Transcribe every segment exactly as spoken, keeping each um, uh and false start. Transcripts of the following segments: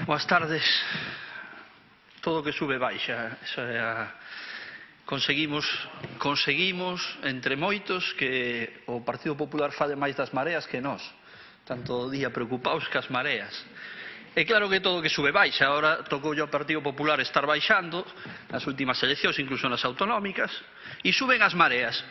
Boas tardes. Todo o que sube baixa. Esa é a... Conseguimos, conseguimos, entre moitos, que o Partido Popular fale máis das mareas que nós. Tanto o día preocupados que as mareas. É claro que todo o que sube baixa. Ahora tocou ao Partido Popular estar baixando nas últimas eleccións, incluso nas autonómicas, e suben as mareas.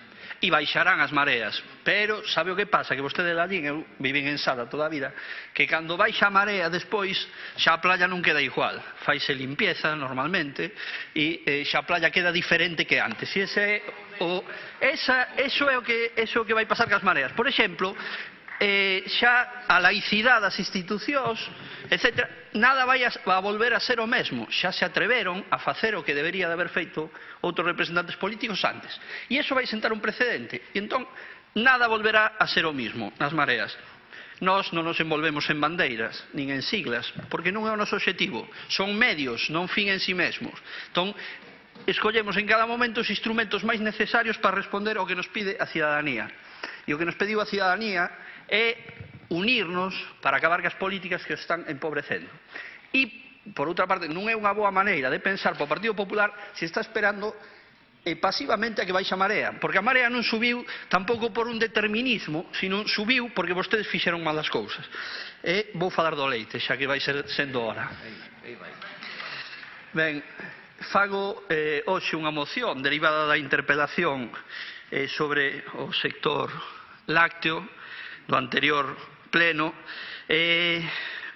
E baixarán as mareas, pero sabe o que pasa? Que vostede lá allí, eu viven en Sada toda a vida, que cando baixa a marea despois xa a playa non queda igual, faise limpieza normalmente e eh, xa a playa queda diferente que antes. E ese é o, esa, eso é o que, eso é o que vai pasar cas mareas. Por exemplo, eh, xa a laicidade das institucións, etcétera, nada vai a, a volver a ser o mesmo. Xa se atreveron a facer o que debería de haber feito outros representantes políticos antes. E iso vai sentar un precedente. E entón, nada volverá a ser o mismo nas mareas. Nós non nos envolvemos en bandeiras, nin en siglas, porque non é o noso objetivo. Son medios, non fin en si mesmos. Entón, escollemos en cada momento os instrumentos máis necesarios para responder ao que nos pide a cidadanía. E o que nos pediu a cidadanía é unirnos para acabar cas políticas que os están empobrecendo. E, por outra parte, non é unha boa maneira de pensar para o Partido Popular se está esperando eh, pasivamente a que baixe a marea, porque a marea non subiu tampouco por un determinismo, sino subiu porque vostedes fixeron mal as cousas. E vou falar do leite, xa que vai ser sendo hora. Ben, fago eh, hoxe unha moción derivada da interpelación eh, sobre o sector lácteo do anterior pleno, eh,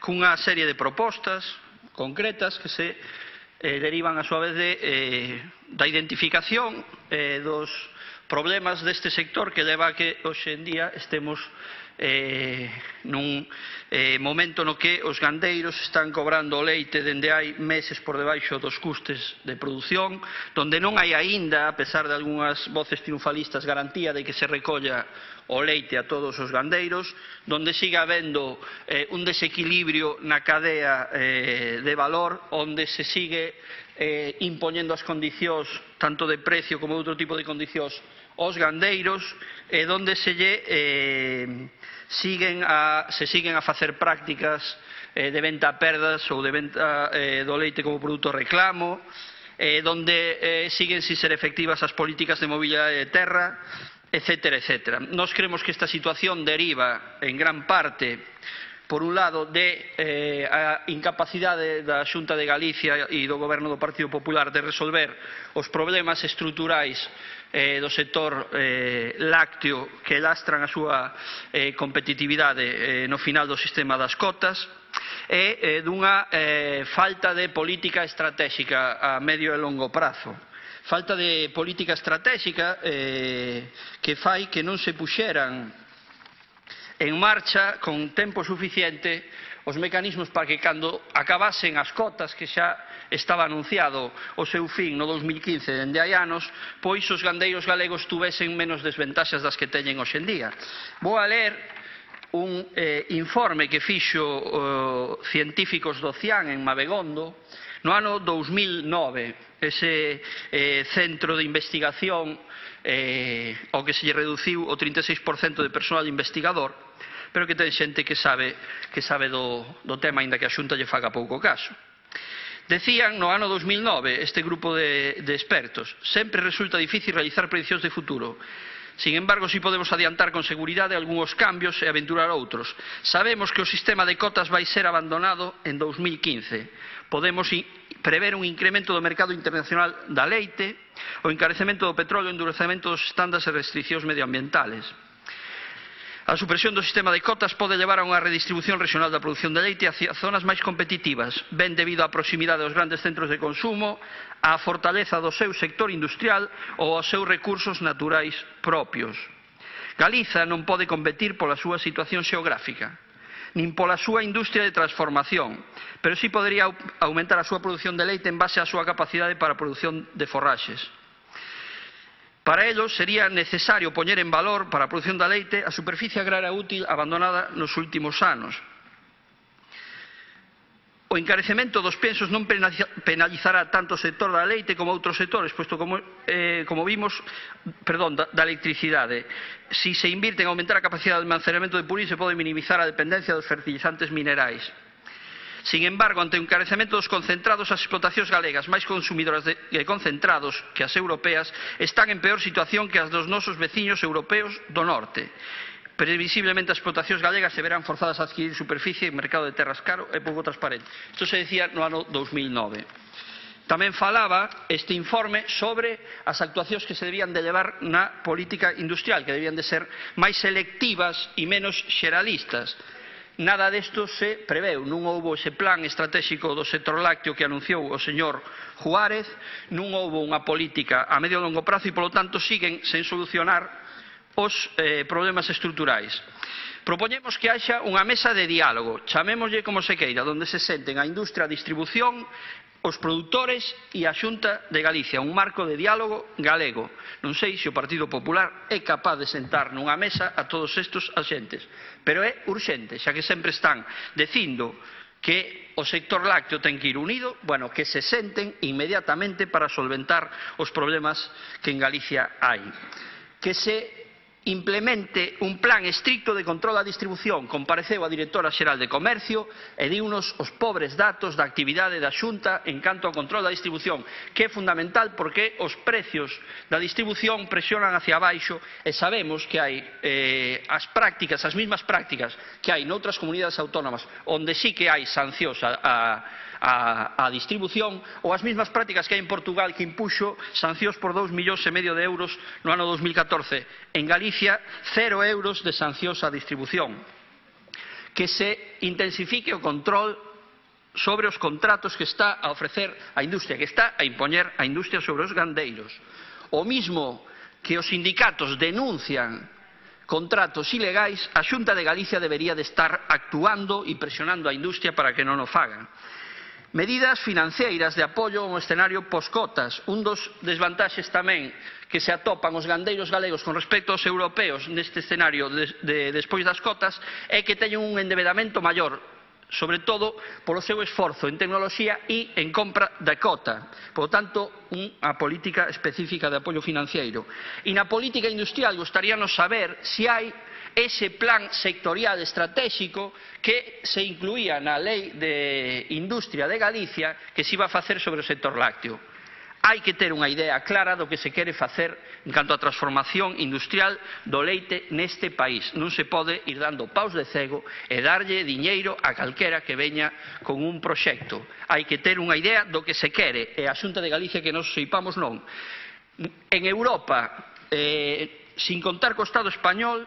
cunha serie de propostas concretas que se eh, derivan a súa vez de, eh, da identificación eh, dos problemas deste sector que leva a que hoxe en día estemos eh, nun eh, momento no que os gandeiros están cobrando o leite dende hai meses por debaixo dos custes de produción, donde non hai aínda, a pesar de algunhas voces triunfalistas, garantía de que se recolla o leite a todos os gandeiros, donde siga habendo eh, un desequilibrio na cadea eh, de valor, onde se sigue eh, impoñendo as condicións, tanto de precio como de outro tipo de condicións, aos gandeiros, e donde se lle eh, siguen a, se siguen a facer prácticas eh, de venta a perdas ou de venta eh, do leite como produto reclamo, eh, donde eh, siguen sin ser efectivas as políticas de mobilidade de terra, etcétera, etcétera. Nos creemos que esta situación deriva en gran parte, por un lado, de eh, a incapacidade da Xunta de Galicia e do Goberno do Partido Popular de resolver os problemas estruturais eh, do sector eh, lácteo que lastran a súa eh, competitividade eh, no final do sistema das cotas, e eh, dunha eh, falta de política estratégica a medio e longo prazo. Falta de política estratégica eh, que fai que non se puxeran en marcha con tempo suficiente os mecanismos para que cando acabasen as cotas, que xa estaba anunciado o seu fin no dos mil quince dende hai anos, pois os gandeiros galegos tuvesen menos desventaxas das que teñen hoxe en día. Vou a ler un eh, informe que fixo uh, científicos do CIAN en Mabegondo no ano dous mil nove, ese eh, centro de investigación eh, ao que se lle reduciu o trinta e seis por cento de personal investigador, pero que ten xente que sabe, que sabe do, do tema, aínda que a Xunta lle faga pouco caso. Decían no ano dous mil nove este grupo de, de expertos: sempre resulta difícil realizar prediccións de futuro. Sin embargo, si podemos adiantar con seguridade algúns cambios e aventurar outros. Sabemos que o sistema de cotas vai ser abandonado en dous mil quince. Podemos prever un incremento do mercado internacional da leite, o encarecemento do petróleo, o endurecemento dos estándares e restriccións medioambientales. A supresión do sistema de cotas pode levar a unha redistribución regional da produción de leite hacia zonas máis competitivas, ben debido á proximidade aos grandes centros de consumo, á fortaleza do seu sector industrial ou aos seus recursos naturais propios. Galiza non pode competir pola súa situación xeográfica, nin pola súa industria de transformación, pero si podería aumentar a súa produción de leite en base á súa capacidade para a produción de forraxes. Para ello, sería necesario poñer en valor para a produción da leite a superficie agraria útil abandonada nos últimos anos. O encarecemento dos pensos non penalizará tanto o sector da leite como outros sectores, posto como, eh, como vimos, perdón, da, da electricidade. Si se invirte en aumentar a capacidade de almacenamento de purín, se pode minimizar a dependencia dos fertilizantes minerais. Sin embargo, ante o encarecemento dos concentrados, as explotacións galegas máis consumidoras de concentrados que as europeas están en peor situación que as dos nosos veciños europeos do norte. Previsiblemente as explotacións galegas se verán forzadas a adquirir superficie en mercado de terras caro e pouco transparente. Isto se decía no ano dous mil nove. Tamén falaba este informe sobre as actuacións que se debían de levar na política industrial, que debían de ser máis selectivas e menos xeralistas. Nada desto se preveu, non houbo ese plan estratégico do sector lácteo que anunciou o señor Juárez, non houbo unha política a medio e longo prazo e, polo tanto, siguen sen solucionar os eh, problemas estruturais. Propoñemos que haxa unha mesa de diálogo, chamémoslle como se queira, onde se senten a industria, a distribución, os produtores e a Xunta de Galicia, un marco de diálogo galego. Non sei se o Partido Popular é capaz de sentar nunha mesa a todos estes axentes, pero é urxente, xa que sempre están dicindo que o sector lácteo ten que ir unido, bueno, que se senten inmediatamente para solventar os problemas que en Galicia hai. Que se implemente un plan estricto de control da distribución. Compareceu a directora xeral de Comercio e diunos os pobres datos da actividade da Xunta en canto ao control da distribución, que é fundamental porque os precios da distribución presionan hacia abaixo e sabemos que hai eh, as prácticas, as mesmas prácticas que hai noutras comunidades autónomas onde sí que hai sancións a, a A, a distribución, ou as mesmas prácticas que hai en Portugal, que impuxo sancións por dous millóns e medio de euros no ano dos mil catorce. En Galicia, cero euros de sancións á distribución. Que se intensifique o control sobre os contratos que está a ofrecer a industria, que está a impoñer a industria sobre os gandeiros. O mismo que os sindicatos denuncian contratos ilegais, a Xunta de Galicia debería de estar actuando e presionando a industria para que non o fagan. Medidas financeiras de apoio ao escenario poscotas. Un dos desvantaxes tamén que se atopan os gandeiros galegos con respecto aos europeos neste escenario de, de, despois das cotas é que teñen un endebedamento maior, sobre todo polo seu esforzo en tecnoloxía e en compra da cota. Por tanto, unha política específica de apoio financiero. E na política industrial gostaríanos saber se hai ese plan sectorial estratégico que se incluía na Lei de Industria de Galicia que se iba a facer sobre o sector lácteo. Hai que ter unha idea clara do que se quere facer en canto á transformación industrial do leite neste país. Non se pode ir dando paus de cego e darlle diñeiro a calquera que veña con un proxecto. Hai que ter unha idea do que se quere e a Xunta de Galicia que nos seipamos non. En Europa, eh, sin contar co Estado español,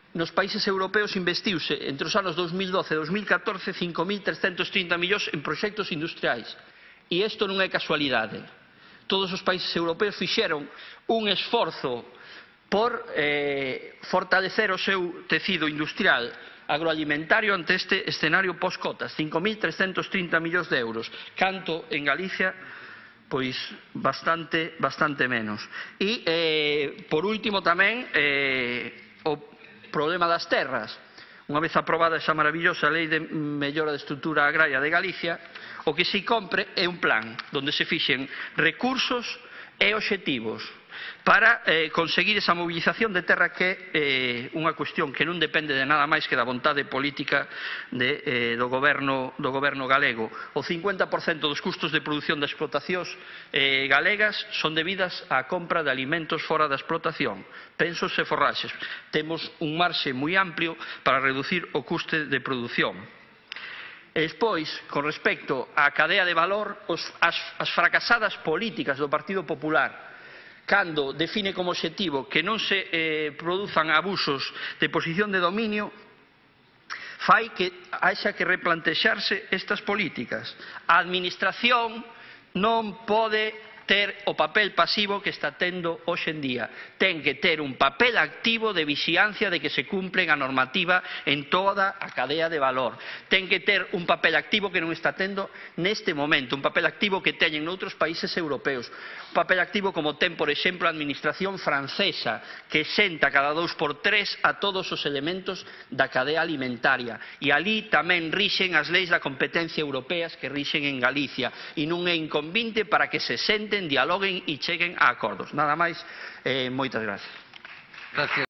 nos países europeos investiuse entre os anos dos mil doce e dos mil catorce cinco mil trescentos trinta millóns en proxectos industriais. E isto non é casualidade. Todos os países europeos fixeron un esforzo por eh, fortalecer o seu tecido industrial agroalimentario ante este escenario post-cotas, cinco mil trescentos trinta millóns de euros, canto en Galicia pois bastante, bastante menos. E, eh, por último, tamén eh, o problema das terras. Unha vez aprobada esa maravillosa Lei de Mellora de Estrutura Agraria de Galicia, o que se compre é un plan onde se fixen recursos e obxectivos para eh, conseguir esa movilización de terra que é eh, unha cuestión que non depende de nada máis que da vontade política de, eh, do, goberno, do goberno galego. O cincuenta por cento dos custos de produción das explotacións eh, galegas son debidas á compra de alimentos fora da explotación, pensos e forraxes. Temos un marxe moi amplio para reducir o custe de produción. E despois, con respecto á cadea de valor, os, as, as fracasadas políticas do Partido Popular, cando define como obxectivo que non se eh, produzan abusos de posición de dominio, fai que haxa que replantexarse estas políticas. A administración non pode ter o papel pasivo que está tendo hoxe en día. Ten que ter un papel activo de vixiancia de que se cumplen a normativa en toda a cadea de valor. Ten que ter un papel activo que non está tendo neste momento, un papel activo que teñen noutros países europeos. Un papel activo como ten, por exemplo, a administración francesa, que senta cada dous por tres a todos os elementos da cadea alimentaria. E ali tamén rixen as leis da competencia europeas que rixen en Galicia. E non é inconvinte para que se senten, dialoguen e cheguen a acordos. Nada máis, eh, moitas gracias. Gracias.